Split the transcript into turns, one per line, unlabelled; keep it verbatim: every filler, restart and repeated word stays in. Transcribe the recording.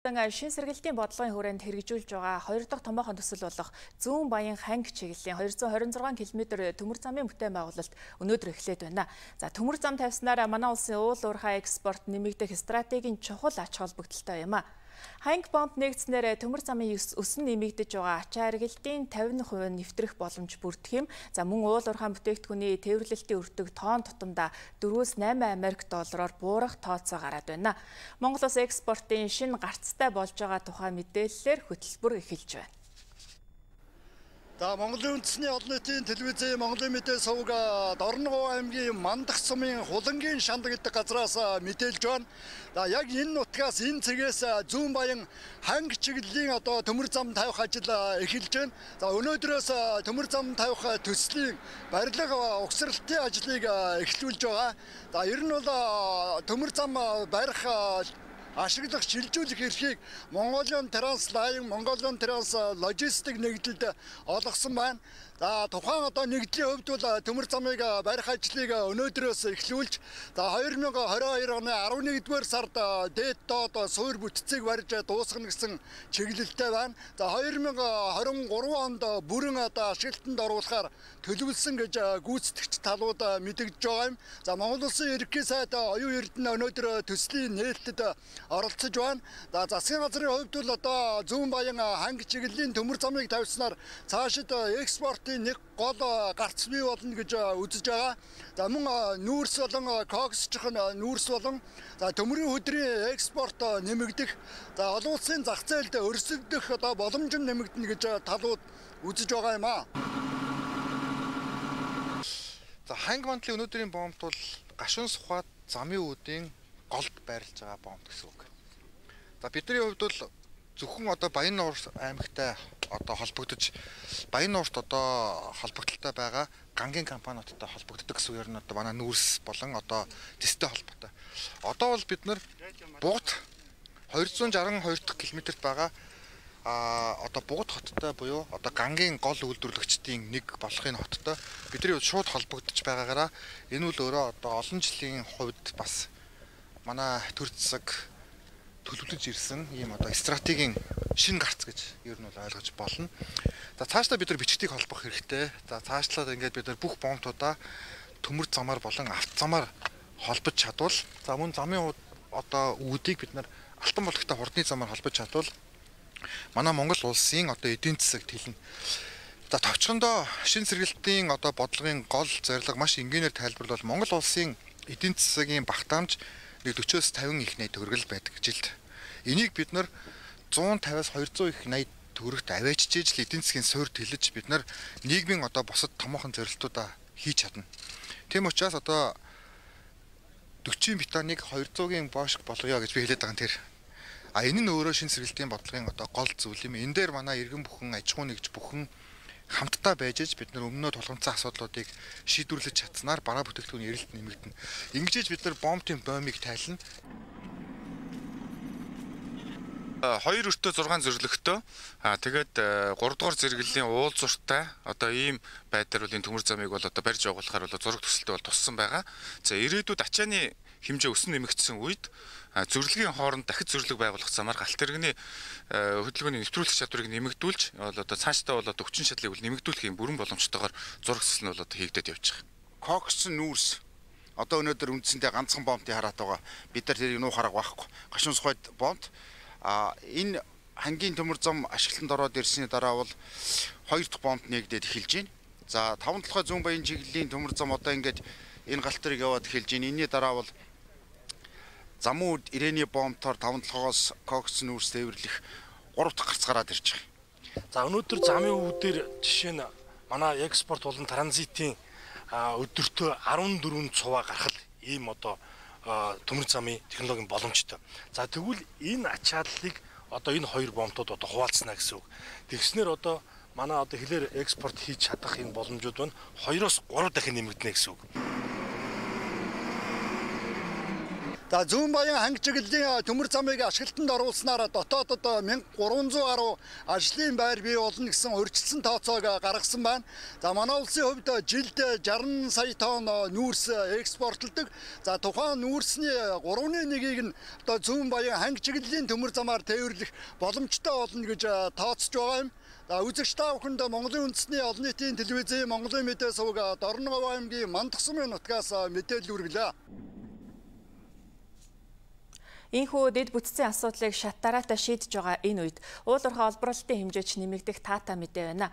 Шин сэргэлтийн бодлогын хүрээнд хэрэгжүүлж байгаа хоёр дахь томоохон төсөл болох Зүүн Баян ханги чиглэлийн двести двадцать шесть км төмөр замын бүтээн байгуулалт өнөөдөр эхлээд байна. За төмөр зам тавьснаар манай улсын уул уурхай экспорт нэмэгдэх стратегийн чухал ач холбогдолтой юм а. Ханги бонд нэгдснээр төмөр замын өсөн нэмэгдэж байгаа ачаа аргалтын тавин хувь нэвтрэх боломж бүрдэх юм. За мөн уул уурхай бүтээгдэхүүний тээвэрлэлтийн өртөг тоон тутамдаа дөрвөөс найман Америк доллараар буурах тооцоо гараад байна. Монгол улс экспортын шинэ гарцтай болж байгаа тухай мэдээллээр хөтөлбөр эхэлж байна.
За Монголын үндэсний олон нийтийн телевизийн Монголын мэдээ сувг Дорногов аймгийн Мандах сумын Хулангийн шанд гэдэг газраас мэдээлж байна. За яг энэ нутгаас энэ цэгээс Зүүн Баян ханги чиглэлийн одоо төмөр зам тавих ажил эхэлж байна. За өнөөдрөөс төмөр зам тавих төслийн барилга угсралтын ажлыг эхлүүлж байгаа. За ер нь бол төмөр зам барих ашиглах шилжүүлэх эрхийг Mongolian Trans-Line, Mongolian Trans-Logistic нэгдэлд олгосон байна. За тухайн одоо нэгдлийн хувьд бол төмөр замыг барих ажлыг өнөөдрөөс эхлүүлж, за две тысячи двадцать two оны eleven-р сард дээд доод суур бүтцийг барьж дуусгах гэсэн чиглэлтэй байна. За две тысячи двадцать three онд бүрэн одоо ашиглалтанд оруулахаар төлөвлөсөн гэж гүйцэтгэгч талууд мэдэгдэж байгаа юм. За Монгол Улсын ерөнхий сайд оюун эрдэнэ өнөөдөр төслийн нээлттэд оролцож байна. За засгийн газрын хувьд бол одоо Зүүн Баян ханги чиглэлийн төмөр замыг тавьснаар цаашид экспорт нэг гол гарц бий болно гэж үзэж байгаа. За мөн нүүрс болон коксчхон нүүрс болон за төмрийн хөдрийн экспорт нэмэгдэх, за олон улсын зах зээлд өрсөлдөх одоо боломж нэмэгдэнэ гэж талууд үзэж байгаа юм аа.
За ханги мантлын өнөөдрийн бомбт бол гашуун сухад замын үүдийн голд байрлаж байгаа бомб гэсэн үг. За бидний хувьд бол зөвхөн одоо Баян нуур аймагтай одоо холбогдож Баян нуурт одоо холбогдолтой байгаа гангийн компаниудтай холбогддог гэсэн үг нь одоо манай нүүрс болон одоо дэстэй холбоотой. Одоо бол бид нар Бугт two hundred sixty-two дахь километрт байгаа а одоо Бугт хоттой буюу одоо гангийн гол үйлдвэрлэгчдийн нэг болох энэ хоттой бидний шууд холбогдож байгаагаараа энэ үл өөрөө одоо олон жилийн хувьд бас манай төр засаг төлөвлөж ирсэн ийм одоо стратегийн шинэ гарц гэж ер нь бол ойлгож болно. За цаашдаа бид нар бичгтийг холбох хэрэгтэй. За цаашлаад ингээд бид нар бүх бомбтуудаа төмөр замаар болон автозамаар холбож чадвал, за мөн замын одоо үүдийг бид нар алтан булгахтай хурдны замаар холбож чадвал манай Монгол улсын одоо эдийн засаг тэлнэ. За товчхондоо шинэ сэргэлтийн одоо бодлогын гол зорилго маш энгийнээр тайлбарлал Монгол улсын эдийн засгийн багтаамж forty-с fifty их найд төгрөгл байдаг жилд. Энийг бид нар one fifty-с two hundred их найд төгрөгт аваачж ижил эдийн засгийн суурь тэлж бид нар нийгмийн одоо бусад томоохон зорилтуудаа хийж чадна. Тийм учраас одоо forty бетоныг two hundred-ийн бошк болгоё гэж би хэлээд байгаа юм тэр. А энэ нь өөрөө шинэ сэргэлтийн бодлогын одоо гол зүйл юм. Энэ дээр манай иргэн бүхэн аж ахуй нэгж бүхэн хамтдаа байж иж бид нар өмнөө тулгамдсан асуудлуудыг шийдвэрлэж чадсанаар бараа бүтээгдэхүүний эрэлт нэмэгдэнэ. Ингэж бид нар бомбын бомбыг тайлна.
Хоёр өртөө зургаан зөвлөгтэй. Аа тэгээд гурав дахь зэрэглэлийн уул зуртай одоо ийм байдлаар бол энэ төмөр замыг бол одоо барьж явуулахаар бол зураг төсөлтөд бол туссан байгаа. За ирээдүйд ачааны хэмжээ өсөн нэмэгдсэн үед зөвлөгийн хооронд дахид зөвлөг байгуулах замаар галт тэрэгний хөдөлгөөний нэвтрүүлэх чадварыг нэмэгдүүлж бол одоо цаашдаа бол одоо хүчин чадлыг бол нэмэгдүүлэх юм бүрэн боломжтойгоор зураг төсөл нь бол одоо хийгдэж явж байгаа.
Кокс нүүрс одоо өнөөдөр үндсэндээ ганцхан бомбын хараад байгаа. Бид нар тэрийг нуу хараг байхгүй. Гашуун сухад бомб а энэ хангийн төмөр зам ашиглалтанд ороод ирсний дараа бол хоёр дахь бомб нэгдээд эхэлж байна. За таван толгой Зүүн Баян чиглэлийн төмөр зам одоо ингээд энэ галт тэрэг яваад эхэлж байна. Энийний дараа бол замууд ирээний бомбтоор таван толгоос кокс нүүрс тээвэрлэх гурав дахь гарц гараад ирж байгаа.
За өнөөдөр замын үүдээр жишээ нь манай экспорт болон транзитийн өдөртөө fourteen цуваа гаргах ийм одоо төмөр замын технологийн боломжтой. За тэгвэл энэ ачааллыг одоо энэ хоёр бомбтууд одоо хуваалцсна гэсэн үг. Тэгснээр одоо манай одоо хэлээр экспорт хийж чадах энэ боломжууд байна two-оос three дахин нэмэгдэнэ гэсэн үг.
За зүүн баян ханги чиглэлийн төмөр замыг ашиглалтанд оруулснаар дотоодод мянга гурван зуун гаруй ажлын байр бий болно гэсэн урьдчилсан тооцоог гаргасан байна. За манай улсын хувьд жилд шарсан сая тонн нүүрс экспортлдог. За тухайн нүүрсний гурван нэгийг нь одоо зүүн баян ханги чиглэлийн төмөр замаар тээвэрлэх боломжтой болно гэж тооцож байгаа юм. За үзэгч та бүхэнд Монголын үндэсний олон нийтийн телевизийн Монголын мэдээ сувг Дорноговь аймгийн Мандахсумын нутгаас мэдээлэл хүргэлээ.
Ийхүү дэд бүтцийн асуудлыг шат дараатай шийдэж байгаа энэ үед уул уурхай олборлолтын хэмжээч нэмэгдэх таатай мэдээ байна.